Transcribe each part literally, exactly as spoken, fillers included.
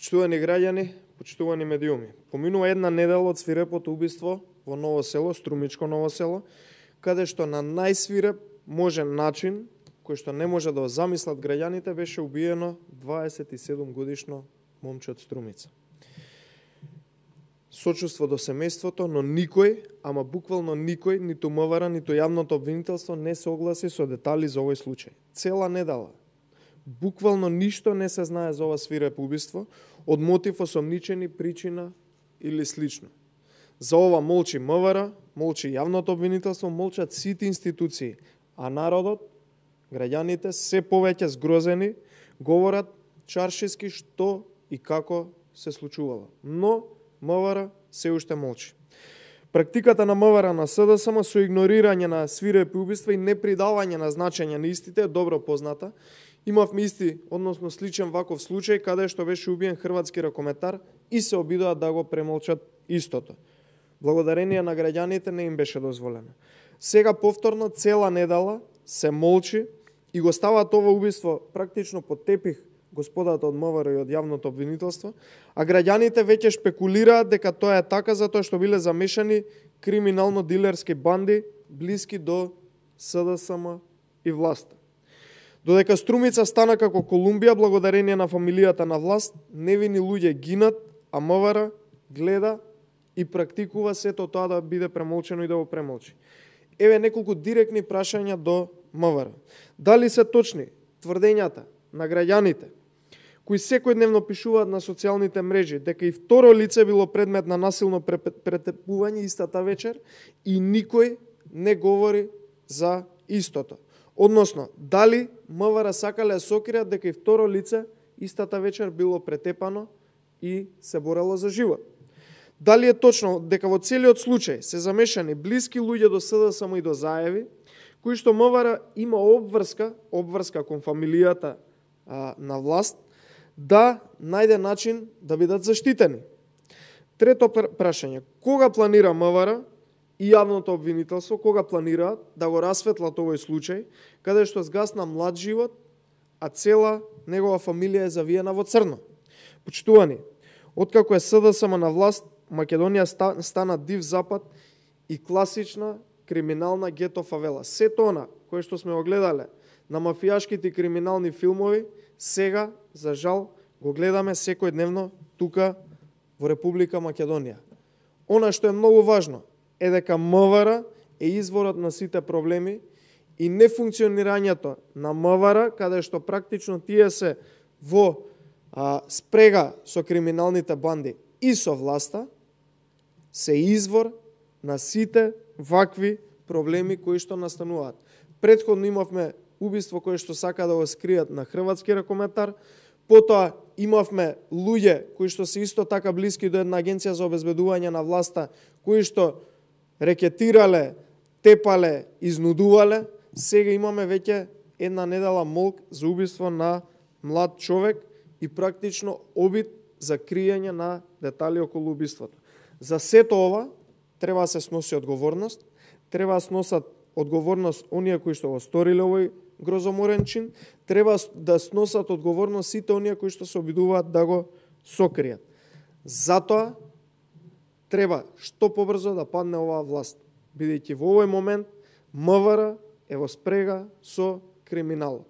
Почитувани граѓани, почитувани медиуми, поминува една недела од свирепото убиство во Ново село, Струмичко Ново село, каде што на најсвиреп можен начин, кој што не може да го замислат граѓаните, беше убиено дваесет и седум годишно момче од Струмица. Сочувство до семејството, но никој, ама буквално никој, ниту МВР, ниту јавното обвинителство не се огласи со детали за овој случај. Цела недела. Буквално ништо не се знае за ова свирепо убиство, од мотив, осомничени, причина или слично. За ова молчи МВР, молчи јавното обвинителство, молчат сите институции, а народот, граѓаните, се повеќе згрозени, говорат чаршиски што и како се случувало. Но МВР се уште молчи. Практиката на МВР на СДСМ со игнорирање на свирепи убиства и непридавање на значење на истите е добро позната. Имавме исти, односно сличен ваков случај, каде што беше убиен хрватски ракометар и се обидоа да го премолчат истото. Благодарение на граѓаните не им беше дозволено. Сега повторно цела недела се молчи и го ставаат ова убиство практично под тепих господата од МВР и од јавното обвинителство, а граѓаните веќе шпекулираат дека тоа е така затоа што биле замешани криминално-дилерски банди блиски до СДСМ и власта. Додека Струмица стана како Колумбија благодарение на фамилијата на власт, невини луѓе гинат, а МВР гледа и практикува сето тоа да биде премолчено и да го премолчи. Еве неколку директни прашања до МВР. Дали се точни тврдењата на граѓаните кои секојдневно пишуваат на социјалните мрежи дека и второ лице било предмет на насилно претепување истата вечер и никој не говори за истото? Односно, дали МВР сакале да сокријат дека и второ лице истата вечер било претепано и се борело за живот? Дали е точно дека во целиот случај се замешани блиски луѓе до СДСМ и до Заеви, кои што МВР има обврска, обврска кон фамилијата а, на власт, да најде начин да бидат заштитени? Трето прашање, кога планира МВР и јавното обвинителство, кога планираат да го расветлат овој случај, каде што згасна млад живот, а цела негова фамилија е завиена во црно? Почитувани, откако е СДСМ на власт, Македонија стана див запад и класична криминална гето фавела. Сето она кое што сме го гледале на мафијашките и криминални филмови, сега, за жал, го гледаме секојдневно тука во Република Македонија. Она што е многу важно е дека МВР е изворот на сите проблеми и нефункционирањето на МВР, каде што практично тие се во а, спрега со криминалните банди и со власта, се извор на сите вакви проблеми кои што настануваат. Претходно имавме убиство кои што сака да го скријат на хрватски ракометар, потоа имавме луѓе кои што се исто така блиски до една агенција за обезбедување на власта, кои што рекетирале, тепале, изнудувале. Сега имаме веќе една недела молк за убиство на млад човек и практично обид за криење на детали околу убиството. За сето ова треба да се сноси одговорност, треба да сносат одговорност оние кои што го сториле овој грозоморен чин, треба да сносат одговорност сите оние кои што се обидуваат да го сокријат. Затоа треба што побрзо да падне оваа власт, бидејќи во овој момент МВР е во спрега со криминалот.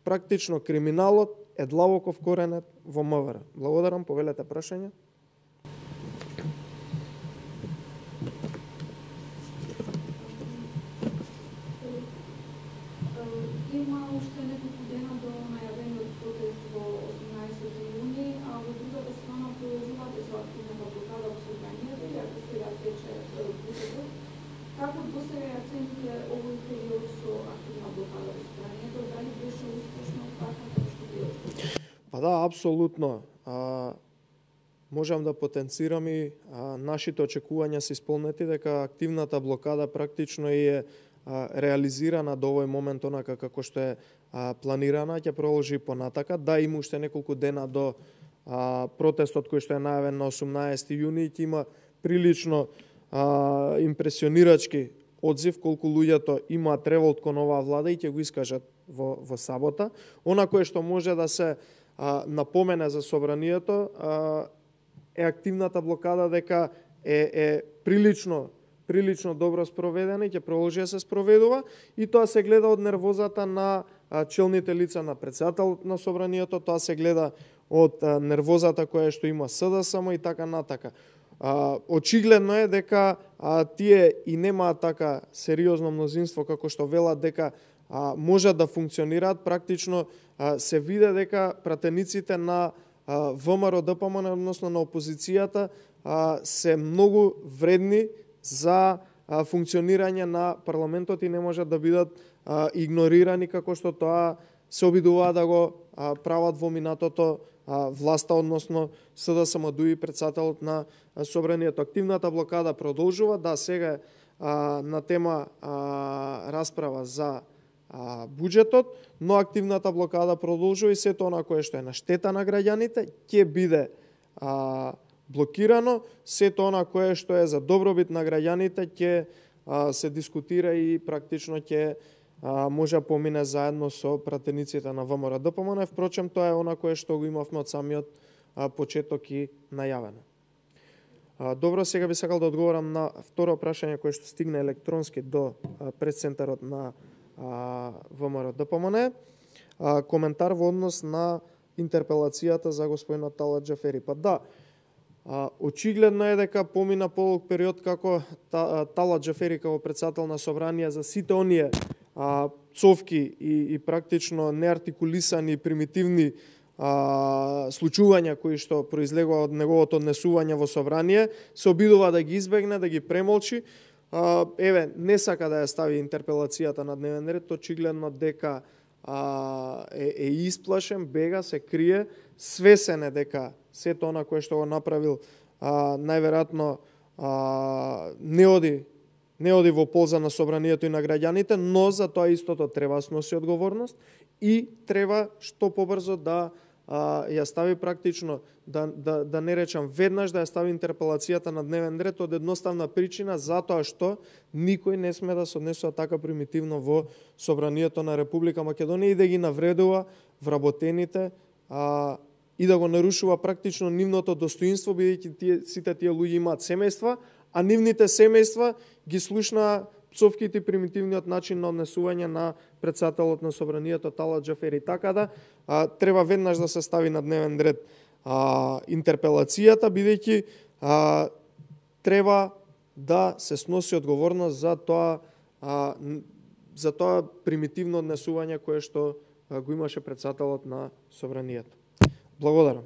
Практично криминалот е длабоко вкоренет во МВР. Благодарам, повелете прашање. Има уште неколку дена до најавениот протест во осумнаесети јуни, а во другата страна продолжувате со активната блокада во собранието, иако сега тече протестот. Како до сега ја цените овој период со активна блокада во собранието? Дали беше успешно така како што било? Па да, апсолутно. А, можам да потенцирам и а, нашите очекувања се исполнети дека активната блокада практично е реализирана до овој момент онака како што е а, планирана, ќе продолжи понатака. Да, има уште неколку дена до а, протестот кој што е најавен на осумнаесети јуни и ќе има прилично а, импресионирачки одзив колку луѓето имаат револт кон оваа влада и ќе го искажат во, во сабота. Она кое што може да се а, напомене за собранието, а, е активната блокада дека е, е прилично прилично добро спроведена и ќе продолжи да се спроведува, и тоа се гледа од нервозата на а, челните лица на председателот на собранието, тоа се гледа од а, нервозата која што има СДСМ и така натака. А, очигледно е дека а, тие и немаат така сериозно мнозинство како што велат дека а, можат да функционираат. Практично а, се виде дека пратениците на а, ВМРО Д П М Н, односно на опозицијата, а, се многу вредни за а, функционирање на парламентот и не можат да бидат а, игнорирани како што тоа се обидуваат да го а, прават во минатото а, власта, односно СДСМ и председателот на собранието. Активната блокада продолжува, да, сега а, на тема а, расправа за а, буџетот, но активната блокада продолжува и сето она кое што е на штета на граѓаните ќе биде а, блокирано, сето она кое што е за добробит на граѓаните ќе се дискутира и практично ќе може да помине заедно со пратениците на ВМРО Д П М Н. Впрочем, тоа е она кое што го имавме од самиот а, почеток и најавено. А, добро, сега би сакал да одговорам на второ прашање кое што стигна електронски до а, пресцентарот на а, ВМРО Д П М Н. А, коментар во однос на интерпелацијата за господинот Талат Џафери. Па да, А, очигледно е дека помина подолг период како та, Талат Џафери како председател на собрание за сите оние а, цовки и, и практично неартикулисани примитивни а, случувања кои што произлегува од неговото однесување во собрание, се обидува да ги избегне, да ги премолчи. А, еве, не сака да ја стави интерпелацијата на дневен ред, очигледно дека а, е, е исплашен, бега, се крие, свесен е дека сето она кое што го направил а, најверојатно а, не оди не оди во полза на собранието и на граѓаните, но за тоа истото треба да сноси одговорност и треба што побрзо да а, ја стави практично, да, да, да не речам веднаш, да ја стави интерпелацијата на дневен ред од едноставна причина, затоа што никој не сме да се однесува така примитивно во собранието на Република Македонија и да ги навредува вработените а, и да го нарушува практично нивното достоинство, бидејќи тие, сите тие луѓе имаат семејства, а нивните семејства ги слушна пцовките и примитивниот начин на однесување на председателот на собранието Талат Џафери. Така да а, треба веднаш да се стави на дневен ред а, интерпелацијата, бидејќи а, треба да се сноси одговорност за тоа а, за тоа примитивно однесување кое што а, го имаше председателот на собранието. Благодарам.